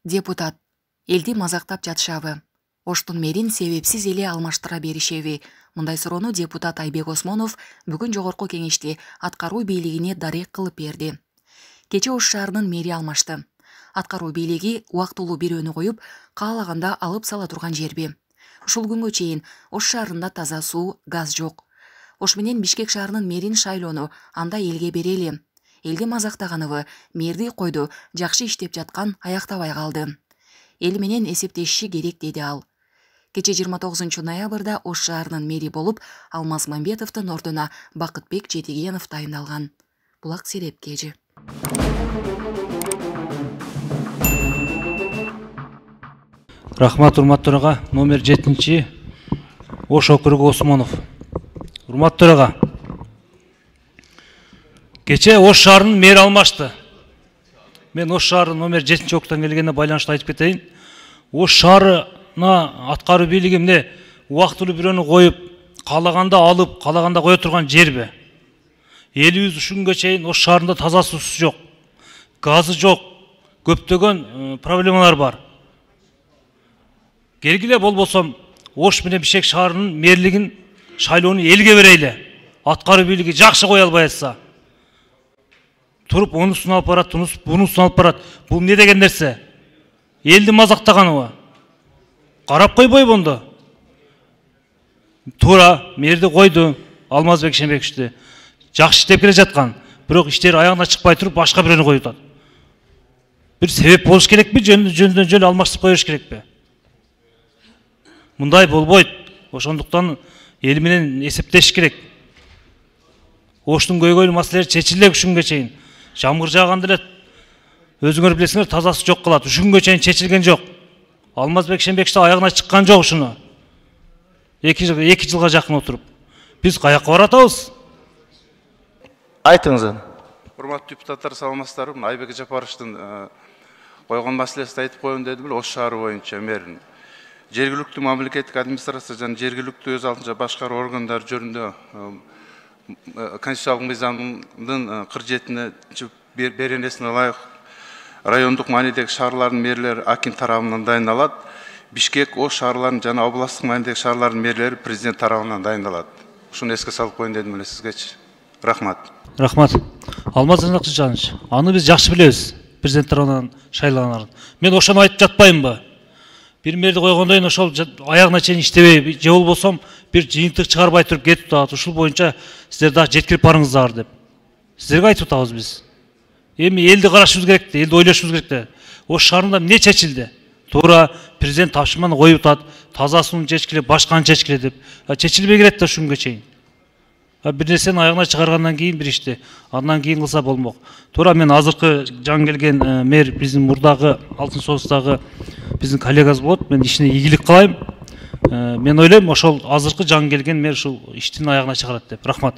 Депутат: элди мазактап жатышабы? Оштун мэрин себепсиз эле алмаштыра беришеби? Мындай суроону депутат Айбек Осмонов бүгүн жогорку кеңеште аткаруу бийлигине дарек кылып берди. Кечээ Ош шаарынын мэри алмашты. Аткаруу бийлиги убактылуу бирөөнү коюп, каалаганда алып сала турган жерби? Ушул күнгө чейин Ош шаарында таза суу, газ жок. Ош менен Бишкек шаарынын мэрин шайлоону анда элге берели. Элди мазактаганыбы, мэрди койду, жакшы иштеп жаткан аяктабай калды. Эл менен эсептешиши керек, деди ал. Кече 29 ноябрда Ош шаарынын мэри болуп Алмаз Мамбетовдун ордуна Бакытбек Жетигенов тайындалган. Булак Сереп кежи. Рахмат, урматтуу төрага. Номер 7 Ош округу Осмонов. Урматтуу төрага. Кече Ош шаарынын мэри алмашты. Мен Ош шаарынын номер 7 округтан келгенине байланыштуу айтып кетейин. Ош шаарына аткаруу бийлиги эмне убактылуу бирөөнү коюп, каалаганда алып, каалаганда кое турган жерби? Элибиз ушул күнгө чейин Ош шаарында таза суусу жок, газы жок, көптөгөн проблемалар бар. Келгиле болбосом Ош менен Бишкек шаарынын мэрлигин шайлоону элге берели. Аткаруу бийлиги жакшы кое албай атса, туруп онусун алып барат, бунусун алып барат. Бул эмне деген нерсе? Элди мазактаганыбы? Карап койбойбу онда? Туура, мэрди койду, Алмазбек Шембековичти. Жакшы иштеп келе жаткан. Бирок иштери аягына чыкпай туруп, башка бирөөнү коюп атат. Бир себеп болуш керекпи? Жөндөн алмаштырып коюш керекпи? Мындай болбойт. Ошондуктан эл менен эсептешиш керек. Оштун көйгөйлүү маселелери чечиле ушунга чейин. Жамгыр жааганда эле өзүңөр билесиңер, тазасы жок калат. Ушунга чейин чечилген жок. Алмазбек Шембекович аягына чыккан жок ушуну. 2 жылга жакын отуруп. Биз каяка баратабыз? Айтыңыз. Урматтуу депутаттар, саламатсыздарбы? Айбек Жапаровичтин койгон маселесин айтып коеюн дедим эле. Ош шаары боюнча мэрин жергиликтүү мамлекеттик администрация жана жергиликтүү өз алдынча башкаруу органдары жөнүндө конституциялык мыйзамдын 47 беренесине ылайык райондук маанидеги шаарлардын мэрлери аким тарабынан дайындалат. Бишкек, Ош шаарларынын жана областтык маанидеги шаарлардын мэрлери президент тарабынан дайындалат. Ушуну эске салып коеюн дедим эле сизгечи. Рахмат. Рахмат. Алмаз Жаныч, аны биз жакшы билебиз. Президент тарабынан шайланганын. Мен ошону айтып жатпаймынбы? Бир мэрди койгондон ошол аягына чейин иштебей, же болбосом бир жыйынтык чыгарбай туруп кетип атат. Ушул боюнча сиздер дагы жеткирип барыңыздар деп. Сиздерге айтып атабыз биз. Эми элди карашыбыз керек да, элди ойлошубуз керек да. Ош шаарында эмне чечилди? Туура, президент тапшырманы коюп атат, таза сууну чечкиле, башканы чечкиле деп. Чечилбей келет да ушунга чейин. Бир нерсени аягына чыгаргандан кийин бир ишти, андан кийин кылса болмок. Туура, мен азыркы жаңы келген мэр биздин мурдагы Алтын Союздагы биздин коллегабыз болот. Мен ишине ийгилик кылайм. Мен ойлойм, ошол азыркы жаңы келген мэр ушул иштин аягына чыгарат деп. Рахмат.